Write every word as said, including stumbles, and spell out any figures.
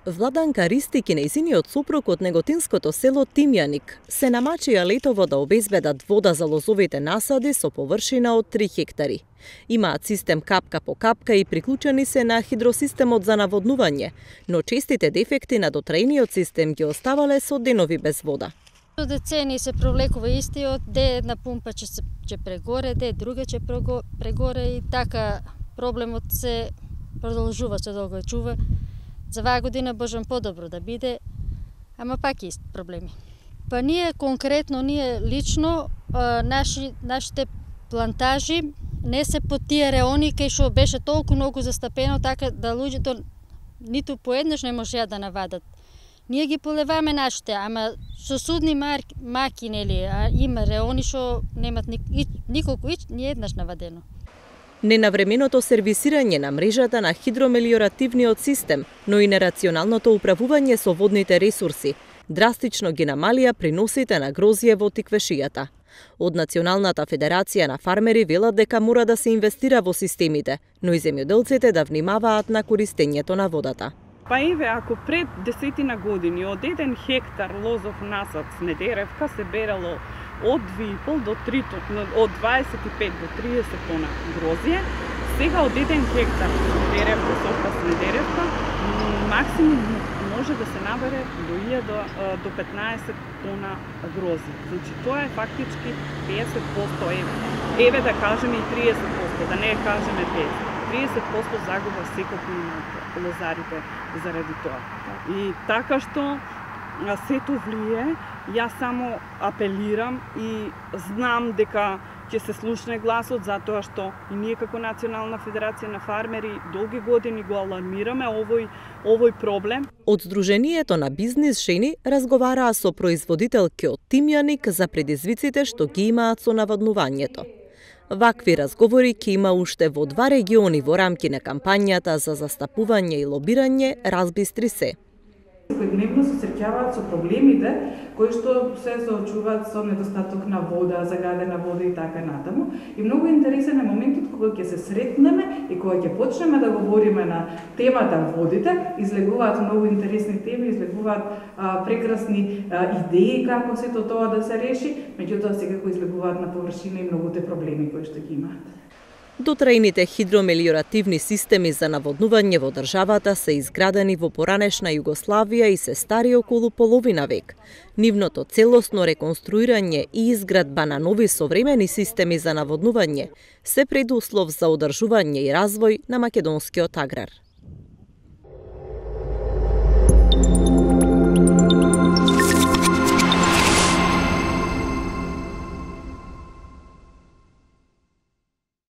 Владанка Ристик и нејзиниот сопруг од неготинското село Тимјаник се намачија летово да обезбедат вода за лозовите насади со површина од три хектари. Имаат систем капка по капка и приклучени се на хидросистемот за наводнување, но честите дефекти на дотраениот систем ги оставале со денови без вода. Децени се провлекува истиот, де една пумпа ќе се ќе прегоре, де друга ќе прегоре и така проблемот се продолжува, се догаѓува. За оваа година можам подобро да биде, ама пак ист проблеми. Па ние конкретно, ние лично, наши, нашите плантажи не се по тие реони кај што беше толку многу застапено, така да луѓето ниту поеднаш не можеа да навадат. Ние ги полеваме нашите, ама со судни маки, нели, а има реони што немат николку ич, ни еднаш навадено. Ненавременото сервисирање на мрежата на хидромелиоративниот систем, но и нерационалното управување со водните ресурси, драстично ги намалија приносите на грозје во тиквешијата. Од Националната федерација на фармери велат дека мора да се инвестира во системите, но и земјоделците да внимаваат на користењето на водата. Па еве, ако пред десетина години од еден хектар лозов насад снедеревка се берало од две и пол до три, од дваесет и пет до триесет тона грозје, сега од еден хектар снедеревка, сорта снедеревка, максимум може да се набере до илјада до петнаесет тона грозје. Значи тоа е фактички петдесет проценти, еве, еве да кажеме и триесет проценти, да не кажеме петдесет. триесет проценти загуба секој имаат лозарите заради тоа. И така што сето влие, јас само апелирам и знам дека ќе се слушне гласот, затоа што и ние како Национална федерација на фармери долги години го алармираме овој, овој проблем. Од Сдруженијето на бизнис жени разговараа со производителки од Тимјаник за предизвиците што ги имаат со наводнувањето. Вакви разговори ќе има уште во два региони во рамки на кампањата за застапување и лобирање Разбистри се. Секојдневно се среќаваат со проблемите кои што се соочуваат со недостаток на вода, загадена вода и така натаму. И многу интересен е моментот кога ќе се сретнеме и кога ќе почнеме да говориме на темата водите, излегуваат многу интересни теми, излегуваат а, прекрасни а, идеи како сето тоа да се реши, меѓутоа секако излегуваат на површина и многуте проблеми кои што ги имаат. Дотраените хидромелиоративни системи за наводнување во државата се изградени во поранешна Југославија и се стари околу половина век. Нивното целосно реконструирање и изградба на нови современи системи за наводнување се предуслов за одржување и развој на македонскиот аграр.